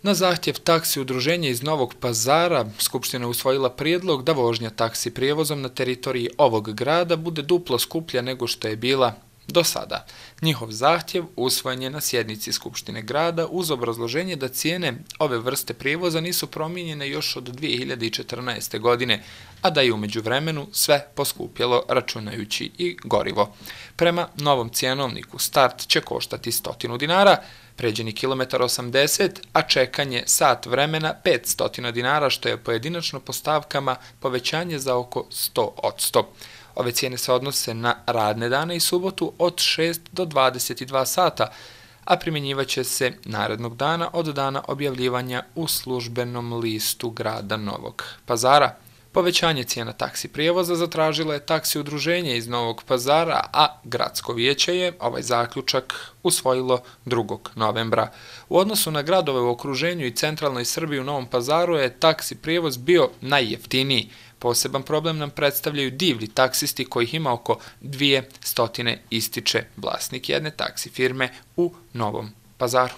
Na zahtjev taksi udruženja iz Novog Pazara, Skupština je usvojila prijedlog da vožnja taksi prijevozom na teritoriji ovog grada bude duplo skuplja nego što je bila do sada. Njihov zahtjev usvojen je na sjednici Skupštine grada uz obrazloženje da cijene ove vrste prijevoza nisu promijenjene još od 2014. godine, a da je u međuvremenu sve poskupjelo računajući i gorivo. Prema novom cjenovniku start će koštati 100 dinara, pređeni kilometar 80, a čekanje sat vremena 500 dinara, što je pojedinačno po stavkama povećanje za oko 100%. Ove cijene se odnose na radne dane i subotu od 6 do 22 sata, a primjenjivaće se narednog dana od dana objavljivanja u službenom listu grada Novog Pazara. Povećanje cijena taksi prijevoza zatražilo je taksi udruženje iz Novog Pazara, a gradsko vijeće je ovaj zaključak usvojilo 2. novembra. U odnosu na gradove u okruženju i centralnoj Srbiji u Novom Pazaru je taksi prijevoz bio najjeftiniji. Poseban problem nam predstavljaju divlji taksisti kojih ima oko 200, ističe vlasnik jedne taksi firme u Novom Pazaru.